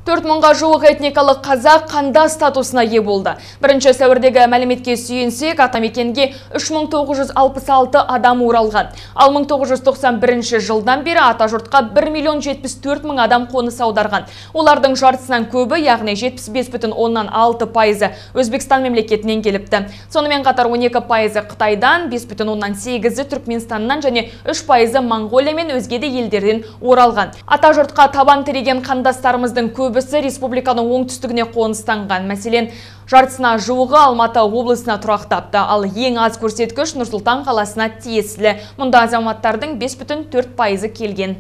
4.000-ға жуық этникалық қазақ қанда статусына ие болды. 1 сәуірдегі мәліметке сүйенсек, атамекенге 3966 адам оралған. Ал 1991 жылдан бері атажұртқа 1.074.000 адам қоныс аударған. Олардың жартысынан көбі, яғни 75,6% Өзбекстан мемлекетінен келіпті. Сонымен қатар 12% Қытайдан, 5,8% Түркменстаннан және 3% Монғолия мен өзге де елдерден оралған. Атажұртқа табан тіреген қандастарымыздың көбісі республиканың оңтүстігіне қоныстанған. Мәселен, жартысына жуығы Алматы облысына тұрақтапты, ал ең аз көрсеткіш Нұр Сұлтан қаласына тиесілі. Мұнда азаматтардың 5,4% келген.